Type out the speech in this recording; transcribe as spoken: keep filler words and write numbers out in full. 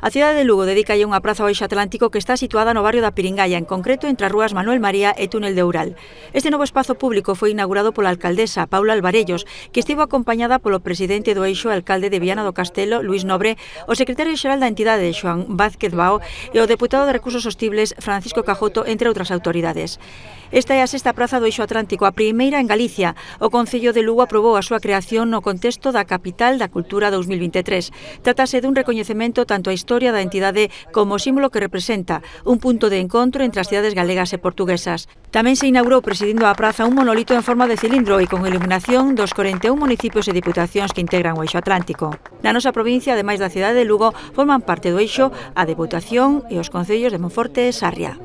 A cidade de Lugo dedica unha praza ao eixo atlántico que está situada no barrio da Piringalla, en concreto entre as rúas Manuel María e Túnel de Oural. Este novo espazo público foi inaugurado pola alcaldesa Paula Alvarellos, que estivo acompañada polo presidente do eixo, alcalde de Viana do Castelo, Luís Nobre, o secretario xeral da entidade, Xoán Vázquez Bao, e o deputado de Recursos Sostibles, Francisco Cajoto, entre outras autoridades. Esta é a sexta praza do eixo atlántico, a primeira en Galicia. O Concello de Lugo aprobou a súa creación no contexto da Capital da Cultura dous mil vinte e tres. Trátase dun recoñecemento tanto a historia da entidade como o símbolo que representa, un punto de encontro entre as cidades galegas e portuguesas. Tamén se inaugurou presidindo a praza un monolito en forma de cilindro e con iluminación dos corenta e un municipios e diputacións que integran o eixo atlántico. Na nosa provincia, ademais da cidade de Lugo, forman parte do eixo a Deputación e os concellos de Monforte e Sarria.